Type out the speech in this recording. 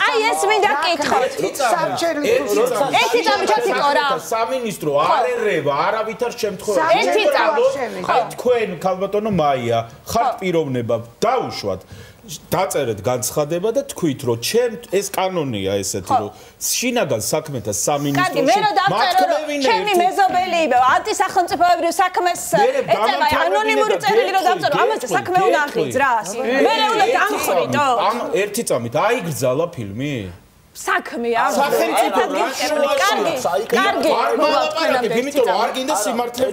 აი ეს მინდა კითხოთ. ერთი წამი ჩაციკო რა. სამინისტრო არ ერევა არავითარ შემთხვევაში. ერთი წამი. აი თქვენ ქალბატონო მაია ხართ პიროვნება დაუშვათ. დაწერეთ განცხადება და თქვით რომ ეს კანონია ესეთი რომ შინაგან საქმეთა სამინისტროში კარგი, მე რომ დავწერო რომ ჩემი მეზობელი ანტისახელმწიფოებრივ საქმეს ეწევა ანონიმური წერილი რომ დავწერო ამაზე საქმე უნდა აღიძ რა. მე უნდა დამხრიტო. ერთი წამით აიგრძალა ფილმი? საქმეა. სახელმწიფო კარგი. არ მოლაპარაკებ, იმიტომ რომ არ გინდა სიმართლე